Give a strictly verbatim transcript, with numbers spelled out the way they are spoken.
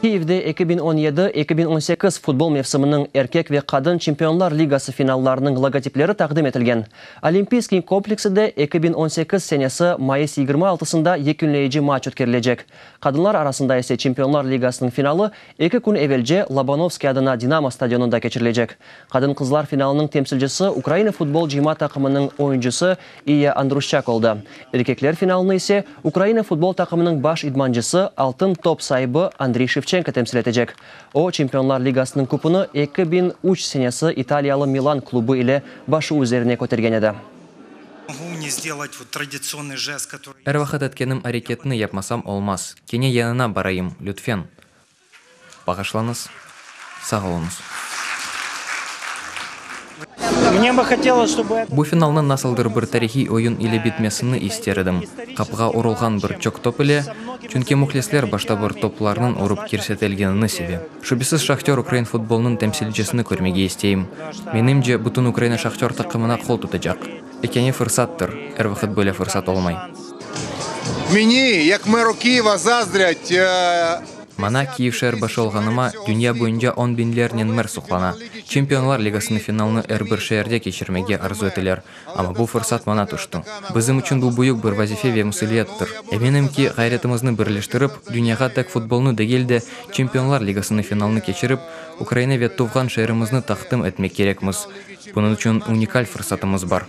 Kiyevde eki biñ on yedi eki biñ on sekiz futbol mevsiminiñ erkek ve qadın Çempionlar Ligası finallarınıñ logotipleri taqdim etilgen. Olimpiyskiy komplekside eki biñ on sekiz senesi mayıs yigirmi altısında yekünleyici matç ötkerilecek. Qadınlar arasında ise Çempionlar Ligasınıñ finalı eki kün evelce Lobanovskiy adına Dinamo stadionında keçirilecek. Qadın-qızlar finalınıñ temsilcisi Ukraina futbol cıyma taqımınıñ oyuncısı İya Andruşçak oldı. Erkekler finalını ise Ukraina futbol taqımınıñ baş idmancısı, Altın top saibi Andriy Şevçenko temsil etecek. O, Çempionlar Ligasınıñ kupunı eki biñ üç senesi italiyalı Milan klubu ile başı üzerine kötergen edi. Er vaqıt etkenim areketni yapmasam olmaz. Kene yanına barayım, lütfen. Bağışlañız. Sağ oluñız. Bu finalnıñ nasıldır bir tarihiy oyun ile bitmesini ister edim, qapığa urulğan bir çoq top ile, çünki mühlisler başta bir toplarnıñ urıp kirsetilgenini seve. Şübesiz, Şahtör ukrain futbolınıñ temsilcisini körmege isteyim. Menimce, bütün Ukraina Şahtör taqımına qol tutacaq. Ekâne fırsattır, er vaqıt böyle fırsat olmay. Meni, yek meru Kiyeva, zazdrât. Maña, Kiyev şeer başı olğanıma, dünya boyunca on biñlernen mer suqlana. Çempionlar Ligasınıñ finalını er bir şeerde keçirmege arzu eteler, amma bu fırsat maña tüşti. Bizim içün bu büyük bir vazife ve mesüliyettir. Eminim ki, ğayretimizni birleştirip, dünyağa tek futbolnı degil de, Çempionlar Ligasınıñ finalını keçirip, Ukraina ve tuvğan şeerimizni taqdim etmek kerekmiz. Bunıñ içün unikal fırsatımız bar.